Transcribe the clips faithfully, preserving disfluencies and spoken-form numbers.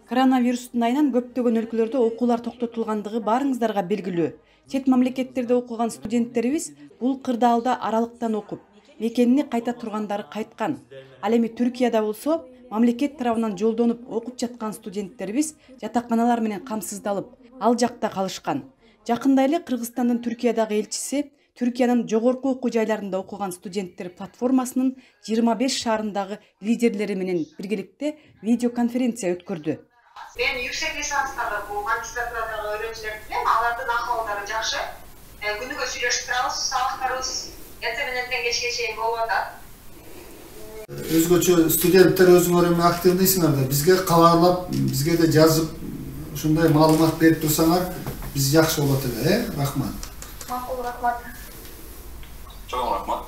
Коронавирустун айынан көптөгөн өлкөлөрдө окуулар токтотулгандыгы баарыңыздарга белгилүү. Чет мамлекеттерде окуган студенттерибиз бул кырдаалда аралыктан окуп, мекенине кайта тургандары кайткан. Ал эми Түркияда болсо, мамлекет тарабынан жолдонуп окуп жаткан студенттерибиз жатаканалар менен камсыздалып, ал жакта калышкан. Жакында эле Кыргызстандын Түркиядагы элчиси Түркиянын жогорку окуу жайларында окуган студенттер платформасынын жыйырма беш шаарындагы лидерлери менен биргеликте видеоконференция өткөрдү. Мен yüksek lisanstагы бул магистратурадагы öğrencilerди билем, алардын акыбалдары жакшы. Күнүгө сүйлөшүп турабыз, сабактарыбыз эртең менен кечке чейин болуп атат. Өзгөчө студенттер өзүңөр эми активныйсыңар да, бизге кабарлап, бизге да жазып, ушундай маалымат берип турсаңар, биз жакшы болот эле, э? Рахмат. Макул, рахмат. Чоң рахмат.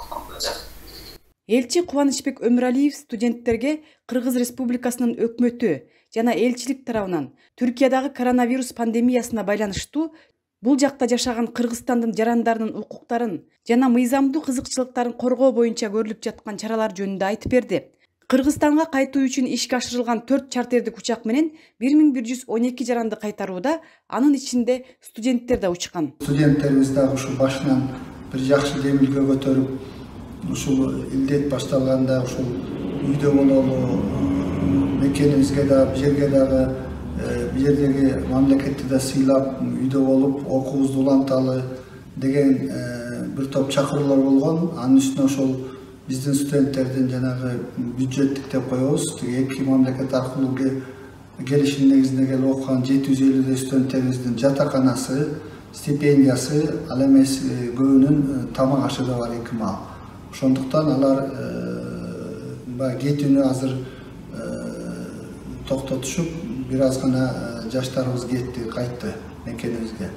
Элчи Кубанычбек Өмүралиев студенттерге Кыргыз Республикасынын өкмөтү жана элчилик тарабынан Түркиядагы коронавирус пандемиясына байланыштуу бул жакта жашаган Кыргызстандын жарандарынын укуктарын жана мыйзамдуу кызыкчылыктарын коргоо боюнча көрүлүп жаткан чаралар жөнүндө айтып берди. Кыргызстанга кайтуу үчүн ишке ашырылган төрт чартердик учак менен бир миң бир жүз он эки жаранды кайтарууда, анын ичинде студенттер да учкан. Студенттерибиз дагы ушу башынан бир жакшы демилге көтөрүп, ушул илдет башталганда ушул үйдө бололу, мекенибизге да, бул жерге дагы, бул жердеги мамлекетти да сыйлап, үйдө болуп, окуубузду уланталы деген бир топ чакыруулар болгон. Анын үстүнө ошол биздин студенттердин жанагы бюджеттик деп коебуз, эки мамлекет аркылуу келишим негизинде келип окуган жети жүз элүүдөй студенттерибиздин жатаканасы, стипендиясы, ал эмес көбүнүн тамак ашы да бар эки маал. Ошондуктан алар баягы кетүүнү азыр токтотушуп, бир аз гана жаштарыбыз кетти, кайтты мекенибизге.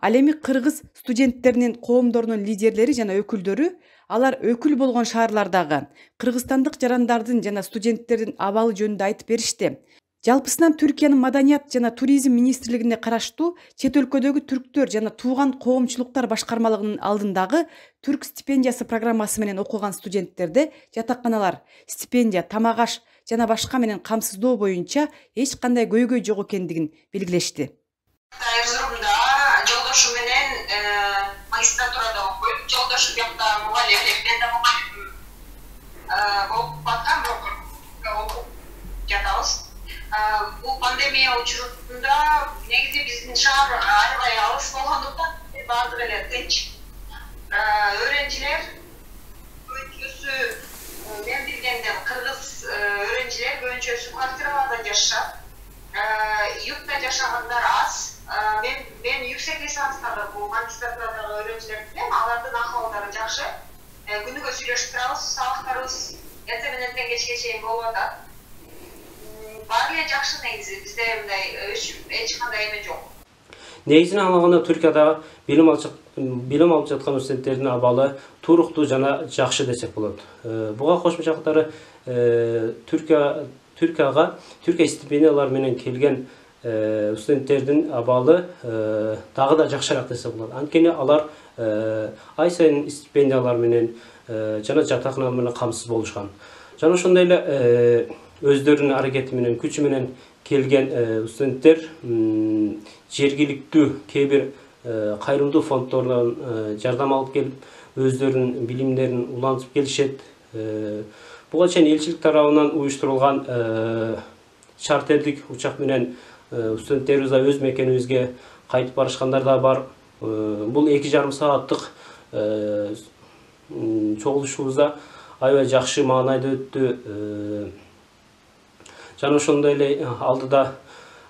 Ал эми кыргыз студенттеринин коомдорунун лидерлери жана өкүлдөрү алар өкүл болгон шаарлардагы кыргызстандык жарандардын жана студенттердин абалы жөнүндө айтып беришти. Жалпысынан Түркиянын маданият жана туризм министрлигине караштуу чет өлкөдөгү түрктөр жана тууган коомчулуктар башкармалыгынын алдындагы түрк стипендиясы программасы менен окуган студенттерде жатаканалар, стипендия, тамак аш жана башка менен камсыздоо боюнча эч кандай көйгөй жок экендигин белгилешти. Эрзурумда жолдошум менен магистратурада окуйт. Жолдошум жакта мугалим, мен да мугалим болуп аткам, окуп жатабыз. Бул пандемия учурунда негизи биздин шаар аябай алыс болгондуктан баардыгы эле тынч. Öğrenciler көбүнчөсү мен билгенден кыргыз öğrenciler көбүнчөсү квартираларда жашашат. Yurtta жашагандар аз. Мен мен yüksek lisanstагы бул магистратурадагы öğrencilerди билем, алардын акыбалдары жакшы. Күнүгө сүйлөшүп турабыз, сабактарыбыз эртең менен кечке чейин болуп атат. Баары эле жакшы негизи, бизде мындай эч кандай эме жок. Негизинен алганда Түркияда билим алып билим алып жаткан студенттердин абалы туруктуу жана жакшы десек болот. Буга кошумча катары Түркия Түркияга Түркия стипендиялары менен келген студенттердин абалы дагы да жакшыраак десек болот. Анткени алар ай сайын стипендиялар менен жана жатакана менен камсыз болушкан. Жана ошондой эле өздөрүнүн аракети менен, күчү менен келген студенттер жергиликтүү кээ бир кайрымдуу фонддордон жардам алып келип, өздөрүнүн билимдерин улантып келишет. Буга чейин элчилик тарабынан уюштурулган чартердик учак менен студенттерибиз да өз мекенибизге кайтып барышкандар да бар. Бул эки жарым сааттык чогулушубузда аябай жакшы маанайда өттү. Жана ошондой эле алдыда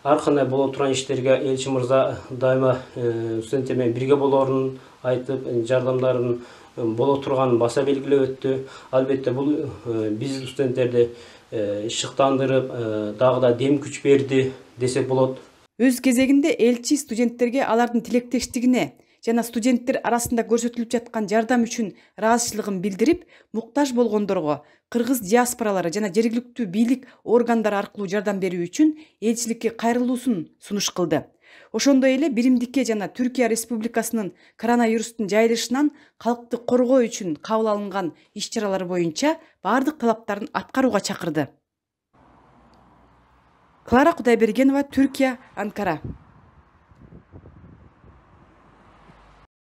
ар кандай боло турган иштерге элчи мырза дайыма студенттер менен бирге болоорун айтып, жардамдарын боло турганын баса белгилеп өттү. Албетте бул биз студенттерди шыктандырып, дагы да дем күч берди десек болот. Өз кезегинде элчи студенттерге алардын тилектештигине жана студенттер арасында көрсөтүлүп жаткан жардам үчүн ыраазычылыгын билдирип, муктаж болгондорго кыргыз диаспоралары жана жергиликтүү бийлик органдары аркылуу жардам берүү үчүн элчиликке кайрылуусун сунуш кылды. Ошондой эле биримдикке жана Түркия Республикасынын коронавирустун жайылышынан калкты коргоо үчүн кабыл алынган иш-чаралар боюнча бардык талаптарын аткарууга чакырды. Клара Кудайбергенова, Түркия, Анкара.